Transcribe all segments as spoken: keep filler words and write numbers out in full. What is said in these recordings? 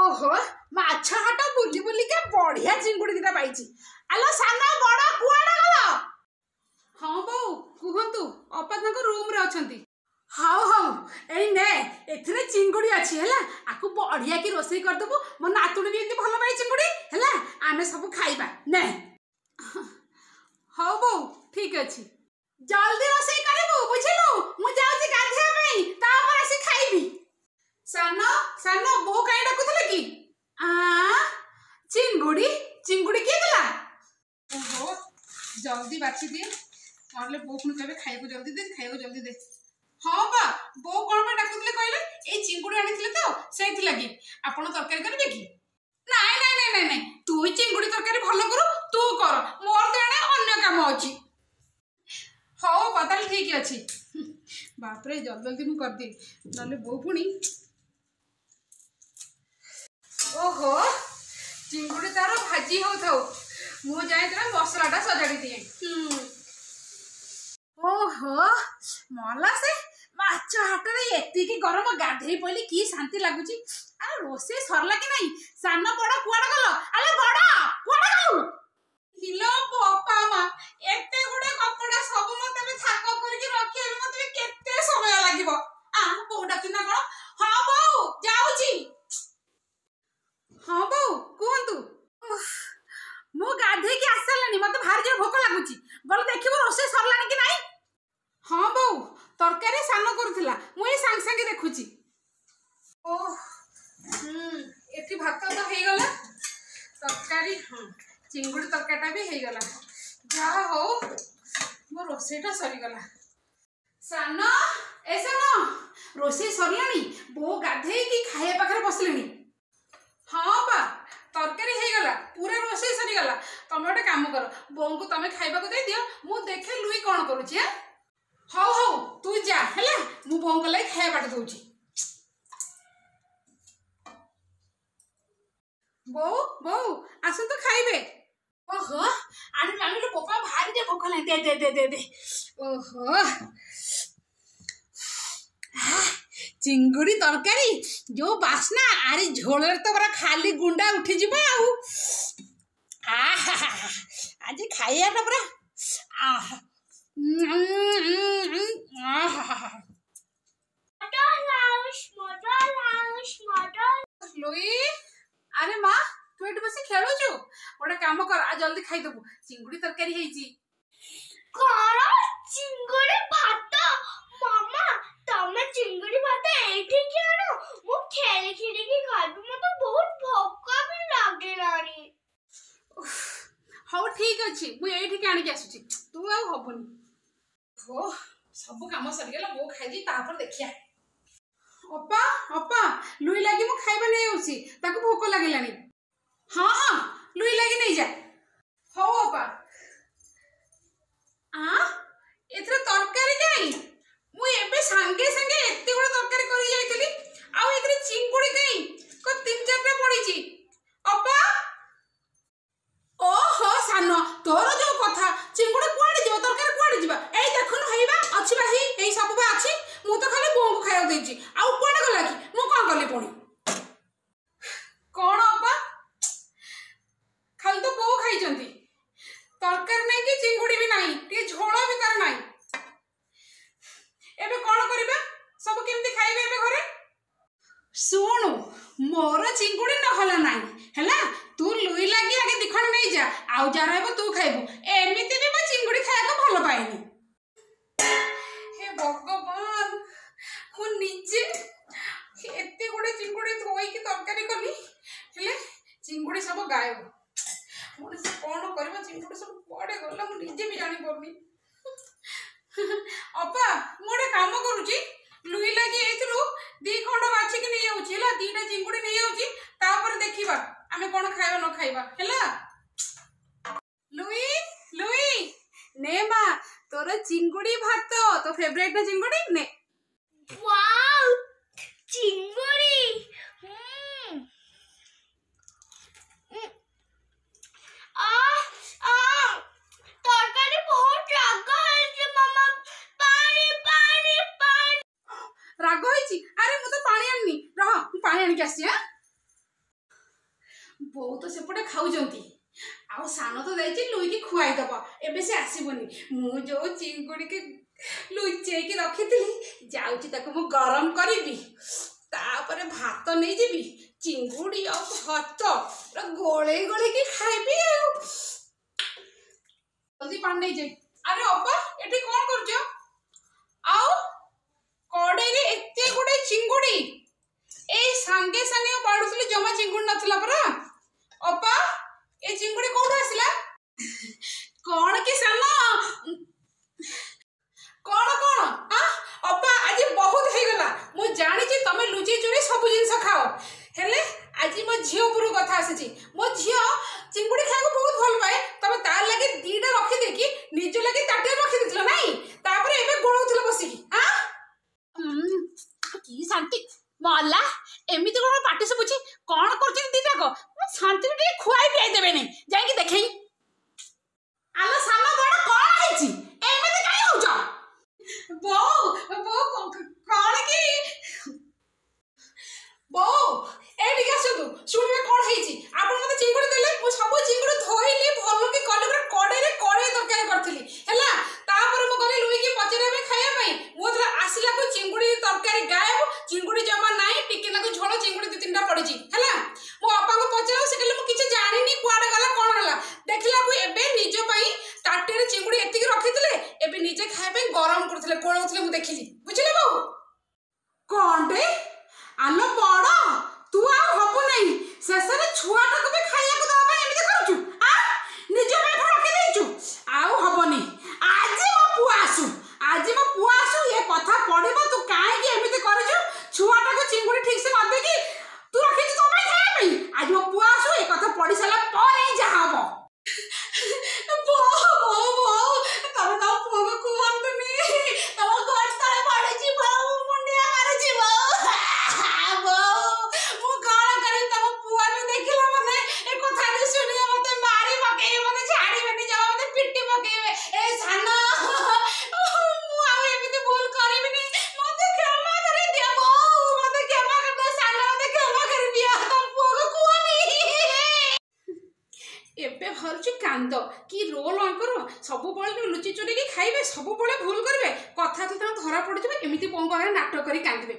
ଓହୋ, ମାଛ ହାଟ ବୁଲି ବୁଲିକା ବଢିଆ ଚିଙ୍ଗୁଡି ଦିଟା ପାଇଛି। ଆଲୋ ସାନ ବଡ, କୁଆଡେ ଗଲ? ହଁ ବୋଉ, କୁହନ୍ତୁ। ଅପା ତାଙ୍କ ରୁମରେ ଅଛନ୍ତି। ହଉ ହଉ, ଏଇ ନେ, ଏଥିରେ ଚିଙ୍ଗୁଡି ଅଛି ହେଲା। ଆକୁ ବଢିଆ କି ରୋଷେଇ କରିଦେବୁ। ମୋ ନାତୁଣୀ ବି ଏମିତି ଭଲ ପାଏ ଚିଙ୍ଗୁଡି ହେଲା। ଆମେ ସବୁ ଖାଇବା, ନେ। ହଉ ବୋଉ, ଠିକ ଅଛି। ଜଲ୍ଦି ରୋଷେଇ କରିବୁ, ବୁଝିଲୁ? ମୁଁ ଯାଉଛି ଗାଧେଇବା ପାଇଁ, ତାପରେ ଆସି ଖାଇବି। ସାନ, ସାନ, ବୋଉ କାହିଁ ଡାକୁଥିଲେ କି? ଆ ଚିଙ୍ଗୁଡି, ଚିଙ୍ଗୁଡି କିଏ ଦେଲା? ଓହୋ, ଜଲ୍ଦି ବାଛି ଦିଏ, ନହେଲେ ବୋଉ ପୁଣି କହିବେ ଖାଇବାକୁ ଜଲ୍ଦି ଦେ, ଖାଇବାକୁ ଜଲ୍ଦି ଦେ। ହଁ ବା, ବୋଉ କ'ଣ ପାଇଁ ଡାକୁଥିଲେ କହିଲେ? ଏଇ ଚିଙ୍ଗୁଡି ଆଣିଥିଲେ ତ, ସେଇଥିଲାଗି। ଆପଣ ତରକାରୀ କରିବେ କି? ନାଇଁ ନାଇଁ ନାଇଁ ନାଇଁ ନାଇଁ, ତୁ ଚିଙ୍ଗୁଡି ତରକାରୀ ଭଲ କରୁ, ତୁ କର, ମୋର ତ ଏଣେ ଅନ୍ୟ କାମ ଅଛି। ହଉ ଅପା, ତାହେଲେ ଠିକ ଅଛି। ବାପରେ, ଜଲ୍ଦି ଜଲ୍ଦି ମୁଁ କରିଦିଏ, ନହେଲେ ବୋଉ ପୁଣି। ଓହୋ, ଚିଙ୍ଗୁଡ଼ି ତାର ଭାଜି ହଉଥାଉ, ମୁଁ ଯାଇ ତାର ମସଲାଟା ସଜାଡ଼ି ଦିଏ। ଓହୋ, ମଲା ସେ ମାଛ ହାଟରେ ଏତିକି ଗରମ, ଗାଧେଇ ପଇଲି, କି ଶାନ୍ତି ଲାଗୁଛି। ଆରେ ରୋଷେଇ ସରିଲା କି ନାଇଁ? ସାନ ବଡ କୁଆଡେ ଗଲ? ଆରେ ବଡ, କୁଆଡେ ଗଲୁ? ହିଲୋ ବୋପା ମା, ଏତେ ଗୁଡେ କପଡା ସବୁ ମତେ ଏବେ ଥାକ କରିକି ରଖିବାକୁ ମତେ ବି କେତେ ସମୟ ଲାଗିବ। ଆ ବୋଉ ଡାକୁଛି ନା କଣ? ହଁ ବୋଉ, ଯାଉଛି। ହଁ ବୋଉ, କୁହନ୍ତୁ। ମୁଁ ଗାଧେଇକି ଆସିସାରିଲାଣି, ମତେ ଭାରି ଜୋର ଭୋକ ଲାଗୁଛି। ଗଲେ ଦେଖିବୁ ରୋଷେଇ ସରିଲାଣି କି ନାଇଁ। ହଁ ବୋଉ, ତରକାରୀ ସାନ କରୁଥିଲା, ମୁଁ ଏଇ ସାଙ୍ଗେ ସାଙ୍ଗେ ଦେଖୁଛି। ଓ ହୁଁ, ଏଠି ଭାତ ତ ହେଇଗଲା, ତରକାରୀ, ହଁ, ଚିଙ୍ଗୁଡ଼ି ତରକାରୀଟା ବି ହେଇଗଲା। ଯାହା ହଉ, ମୋ ରୋଷେଇଟା ସରିଗଲା। ସାନ, ଏ ସାନ, ରୋଷେଇ ସରିଲାଣି? ବୋଉ ଗାଧେଇକି ଖାଇବା ପାଖରେ ବସିଲେଣି। ହଁ ବା, ତରକାରୀ ହେଇଗଲା, ପୁରା ରୋଷେଇ ସରିଗଲା। ତମେ ଗୋଟେ କାମ କର, ବୋଉଙ୍କୁ ତମେ ଖାଇବାକୁ ଦେଇଦିଅ, ମୁଁ ଦେଖେ ଲୁଇ କ'ଣ କରୁଛି। ଆଁ ହଉ ହଉ, ତୁ ଯା ହେଲା, ମୁଁ ବୋଉଙ୍କ ଲାଗି ଖାଇବା ବାଟି ଦଉଛି। ବୋଉ, ବୋଉ, ଆସନ୍ତୁ ଖାଇବେ। ଓହୋ, ଆଣିଲୁ ଆଣିଲୁ, ବୋପା ଭାରି ଯେ ଭୋକ ହେଲାଣି। ଦେ ଦେ ଦେ ଦେ ଦେ। ଓହୋ, ଚିଙ୍ଗୁଡ଼ି ତରକାରୀ ଯୋଉ ବାସ୍ନା! ଆରେ ଝୋଳରେ ତ ପୁରା ଖାଲି ଗୁଣ୍ଡା ଉଠିଯିବ ଆଉ। ଆହା, ଆଜି ଖାଇବାଟା ପୁରା ଆହା। ଲୁଇ, ଆରେ ମା, ତୁ ଏଠି ବସି ଖେଳୁଛୁ? ଗୋଟେ କାମ କର, ଆଉ ଜଲ୍ଦି ଖାଇଦେବୁ, ଚିଙ୍ଗୁଡ଼ି ତରକାରୀ ହେଇଛି। କଣ, ଚିଙ୍ଗୁଡ଼ି ଭାତ? ମାମା, ତମେ ଚିଙ୍ଗୁଡ଼ି ଭାତ ଏଇଠିକି ଆଣ, ମୁଁ ଖେଳି ଖେଳିକି ଖାଇବି। ମତେ ବହୁତ ଭୋକ ବି ଲାଗିଲାଣି। ହଉ ଠିକ ଅଛି, ମୁଁ ଏଇଠିକି ଆଣିକି ଆସୁଛି। ତୁ ଆଉ ହବନି। ଓ, ସବୁ କାମ ସରିଗଲା, ବୋଉ ଖାଇଛି, ତାପରେ ଦେଖିଆ। ଅପା, ଅପା, ଲୁଇ ଲାଗି ମୁଁ ଖାଇବା ନେଇ ଯାଉଛି, ତାକୁ ଭୋକ ଲାଗିଲାଣି। ହଁ ହଁ, ଲୁଇ ଲାଗି ନେଇଯା। ହଉ ଅପା। ଆ ଏଥିରେ ତରକାରୀ କାଇଁ? ମୁଁ ଏବେ ସାଙ୍ଗେ ସାଙ୍ଗେ ଏତେ ଗୁଡେ ତରକାରୀ କରି ଯାଇଥିଲି, ଆଉ ଏଥିରେ ଚିଙ୍ଗୁଡି କାଇଁ? କଣ ତିନି ଚାରିଟା ପଡିଛି? ଅପା। ଓହୋ ସାନ, ତୋର ଯୋଉ କଥା, ଚିଙ୍ଗୁଡି କୁଆଡେ ଯିବ, ତରକାରୀ କୁଆଡେ ଯିବ? ଏଇ ଦେଖୁନୁ, ହେଇବା ଅଛି ବା, ହେଇ ଏଇ ସବୁ ବା ଅଛି। ମୁଁ ତ ଖାଲି ବୋଉଙ୍କୁ ଖାଇବାକୁ ଦେଇଛି, ଆଉ କୁଆଡେ ଗଲା କି? ମୁଁ କଣ କଲି ପୁଣି? କଣ ଅପା, ଖାଲି ତ ବୋଉ ଖାଇଛନ୍ତି, ତରକାରୀ ନାହିଁ କି ଚିଙ୍ଗୁଡି ବି ନାହିଁ, ଟିକେ ଝୋଳ ବି ତାର ନାହିଁ। ଏବେ କଣ କରିବା? ସବୁ କେମିତି ଖାଇବେ ଏବେ ଘରେ? ଶୁଣୁ, ମୋର ଚିଙ୍ଗୁଡି ନହେଲା ନାହିଁ ହେଲା, ତୁ ଲୁଇ ଲାଗି ଆଗେ ଦିଖଣ୍ଡ ନେଇଯା, ଆଉ ଯାହା ରହିବ ତୁ ଖାଇବୁ। ଏମିତି ବି ମୁଁ ଚିଙ୍ଗୁଡି ଖାଇବାକୁ ଭଲ ପାଏନି। ହେ ଭଗବାନ, ମୁଁ ନିଜେ ଏତେ ଗୁଡେ ଚିଙ୍ଗୁଡି ଧୋଇକି ତରକାରୀ କଲି, ହେଲେ ଚିଙ୍ଗୁଡି ସବୁ ଗାୟବ। ମଣିଷ କଣ କରିବ? ଚିଙ୍ଗୁଡି ସବୁ କୁଆଡେ ଗଲା, ମୁଁ ନିଜେ ବି ଜାଣିପାରୁନି। ଅପା, ମୁଁ ଗୋଟେ କାମ କରୁଛି, ଲୁଇ ଲାଗି ଏଇଥିରୁ ଦି ଖଣ୍ଡ ବାଛିକି ନେଇଯାଉଛି ହେଲା, ଦିଟା ଚିଙ୍ଗୁଡି ନେଇଯାଉଛି, ତାପରେ ଦେଖିବା ଆମେ କଣ ଖାଇବା ନ ଖାଇବା ହେଲା। ଲୁଇ, ଲୁଇ, ନେ ମା, ତୋର ଚିଙ୍ଗୁଡି ଭାତ, ତୋ ଫେଭରାଇଟ ନା ଚିଙ୍ଗୁଡି, ନେ। ୱାଓ, ଚିଙ୍ଗୁଡ଼ି! ହୁଁ ଆ ଆ ତରକାରୀ ବହୁତ ରାଗ ହେଇଛି ମାମା, ପାଣି ପାଣି ପାଣି। ରାଗ ହେଇଛି? ଆରେ ମୁଁ ତ ପାଣି ଆଣିନି, ରହ ମୁଁ ପାଣି ଆଣିକି ଆସିଛି। ଆଁ ବୋଉ ତ ସେପଟେ ଖାଉଛନ୍ତି, ଆଉ ସାନ ତ ଯାଇଛି ଲୁଇକି ଖୁଆଇଦବ, ଏବେ ସେ ଆସିବନି। ମୁଁ ଯୋଉ ଚିଙ୍ଗୁଡ଼ିକି ଲୁଚେଇକି ରଖିଥିଲି, ଯାଉଛି ତାକୁ ମୁଁ ଗରମ କରିବି, ତାପରେ ଭାତ ନେଇଯିବି, ଚିଙ୍ଗୁଡ଼ି ଆଉ ଭାତ ପୁରା ଗୋଳେଇ ଗୋଳେଇକି ଖାଇବି। ଆଉ ଜଲ୍ଦି ପାଣି ନେଇଯାଇ। ଆରେ ଅପା, ଏଠି କଣ କରୁଛ? ଆଉ କଡ଼େଇରେ ଏତେ ଗୁଡ଼େ ଚିଙ୍ଗୁଡ଼ି! ଏଇ ସାଙ୍ଗେ ସାଙ୍ଗେ ବାଢୁଥିଲି, ଜମା ଚିଙ୍ଗୁଡ଼ି ନଥିଲା ପରା। ଅପା, ଏ ଚିଙ୍ଗୁଡ଼ି କୋଉଠୁ ଆସିଲା? କଣ କି ସାନ, କଣ କଣ? ଆ ଅପା, ଆଜି ବହୁତ ହେଇଗଲା। ମୁଁ ଜାଣିଛି ତମେ ଲୁଚେଇ ଚୁରେଇ ସବୁ ଜିନିଷ ଖାଅ, ହେଲେ ଆଜି ମୋ ଝିଅ ଉପରକୁ କଥା ଆସିଛି। ମୋ ଝିଅ ଚିଙ୍ଗୁଡ଼ି ଖାଇବାକୁ ବହୁତ ଭଲ ପାଏ। ତମେ ତାର ଲାଗି ଦିଟା ରଖିଦେଇକି ନିଜ ଲାଗି ତାଟିଆରେ ରଖିଦେଇଥିଲ ନାଇଁ? ତାପରେ ଏବେ ଗୋଳଉଥିଲ ବସିକି। ଆଁ, କି ଶାନ୍ତି ମଲା! ଏମିତି କଣ ପାଟି ଶୁଭୁଛି? କଣ କରୁଛନ୍ତି ଦିଟାକ? ମୁଁ ଶାନ୍ତିରେ ଟିକେ ଖୁଆଇ ପିଆଇ ଦେବେନି? ଯାଇକି ଦେଖେଇ। ଆଲୋ ସାନ ବଡ, କଣ ହେଇଛି? ଏମିତି କାଇଁ ହଉଛ? ବୋଉ, ବୋଉ, କଣ କି ବୋଉ, ଏଇଠିକି ଆସନ୍ତୁ, ଶୁଣିବେ କଣ ହେଇଛି। ଆପଣ ମତେ ଚିଙ୍ଗୁଡ଼ି ଦେଲେ, ମୁଁ ସବୁ ଚିଙ୍ଗୁଡ଼ି ଧୋଇଲି, ଭଲ କି କଲି, ପୁରା କଡ଼େଇରେ କଡ଼େଇ ତରକାରୀ କରିଥିଲି ହେଲା। ତାପରେ ମୁଁ ଗଲି ଲୁଇକି ପଚାରିବା ପାଇଁ ଖାଇବା ପାଇଁ। ମୁଁ ଯେତେବେଳେ ଆସିଲାକୁ ଚିଙ୍ଗୁଡ଼ି ତରକାରୀ ଗାୟବ, ଚିଙ୍ଗୁଡ଼ି ଜମା ନାହିଁ, ଟିକେ ନାକୁ ଝୋଳ ଚିଙ୍ଗୁଡ଼ି ଦି ତିନିଟା ପଡ଼ିଛି ହେଲା। ମୋ ଅପାଙ୍କୁ ପଚାରିଲା, ସେ କହିଲେ ମୁଁ କିଛି ଜାଣିନି, କୁଆଡ଼େ ଗଲା କଣ ହେଲା। ଦେଖିଲାକୁ ଏବେ ନିଜ ପାଇଁ ତାଟିଆରେ ଚିଙ୍ଗୁଡ଼ି ଏତିକି ରଖିଥିଲେ, ଏବେ ନିଜେ ଖାଇବା ପାଇଁ ଗରମ କରୁଥିଲେ, ଗୋଳଉଥିଲେ, ମୁଁ ଦେଖିଲି। ବୁଝିଲେ ବୋଉ? କଣଟେ? ଆଲୋ ବଡ, ତୁ ଆଉ ହବୁ ନାହିଁ। ଶେଷରେ ଛୁଆଟାକୁ ବି ଖାଇବାକୁ ଦେବା ପାଇଁ ଏମିତି କରୁଛୁ? ଆ ନିଜ ପାଇଁ ପୁଣି ରଖିଦେଇଛୁ। ଆଉ ହବନି। ଆଜି ମୋ ପୁଅ ଆସୁ, ଆଜି ମୋ ପୁଅ ଆସୁ, ଏ କଥା ପଡିବ। ତୁ କାହିଁକି ଏମିତି କରିଛୁ? ଛୁଆଟାକୁ ଚିଙ୍ଗୁଡ଼ି ଠିକ ସେ ନ ଦେଇକି ତୁ ରଖିଛୁ ତୋ ପାଇଁ ଖାଇବା ପାଇଁ। ଆଜି ମୋ ପୁଅ ଆସୁ, ଏ କଥା ପଡି ସାରିଲା ପରେ ହିଁ ଯାହା ହବ। ବୋଉ, ବୋଉ, ବୋଉ, ତମେ ତମ ପୁଅକୁ କୁହନ୍ତୁନି, ତମ ଗୋଡ଼ ତଳେ ପଡୁଛି ବୋଉ, ମୁଣ୍ଡିଆ ମାରୁଛି ବୋଉ। ବୋଉ, ମୁଁ କଣ କରିବି? ତମ ପୁଅ ବି ଦେଖିଲା ମାନେ ଏ କଥାଟି ଶୁଣିବ, ମତେ ମାରି ପକେଇବେ, ମତେ ଛାଡିବେନି ଜମା, ମତେ ପିଟି ପକେଇବେ। ଏ ସାନ, ମୁଁ ଆଉ ଏମିତି ଭୁଲ କରିବିନି, ମତେ କ୍ଷମା କରିଦିଅ ବୋଉ, ମତେ କ୍ଷମା କରିଦିଅ। ସାନ, ମତେ କ୍ଷମା କରିଦିଅ, ତମ ପୁଅକୁ କୁହନି। ଏବେ ବାହାରୁଛି କାନ୍ଦ କି ରୋଲ ଆଙ୍କର! ସବୁବେଳେ ଲୁଚି ଚୁରେଇକି ଖାଇବେ, ସବୁବେଳେ ଭୁଲ କରିବେ, କଥା ତ ତାଙ୍କୁ ଧରା ପଡ଼ିଯିବ, ଏମିତି ବୋଉଙ୍କ ଆଗରେ ନାଟକ କରି କାନ୍ଦିବେ।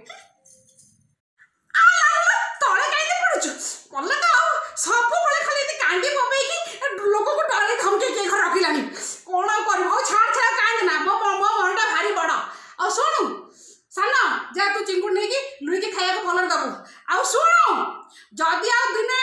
ତଳେ କାହିଁକି ପଡୁଛୁ? କଲେ ତ ଆଉ ସବୁବେଳେ ଖାଲି ଏମିତି କାନ୍ଦି ପକେଇକି ଲୋକକୁ ଡରେଇ ଧମକେଇକି ଏ ଘରେ ରଖିଲାଣି। କଣ ଆଉ କରିବ? ହଉ ଛାଡ଼ ଛାଡ଼, କାନ୍ଦ ନା, ମୋ ମୋ ମନଟା ଭାରି ବଡ଼। ଆଉ ଶୁଣୁ ସାନ, ଯା ତୁ ଚିଙ୍ଗୁଡ଼ି ନେଇକି ଲୁଇକି ଖାଇବାକୁ ଭଲରେ ଦବୁ। ଆଉ ଶୁଣୁ, ଯଦି ଆଉ ଦିନେ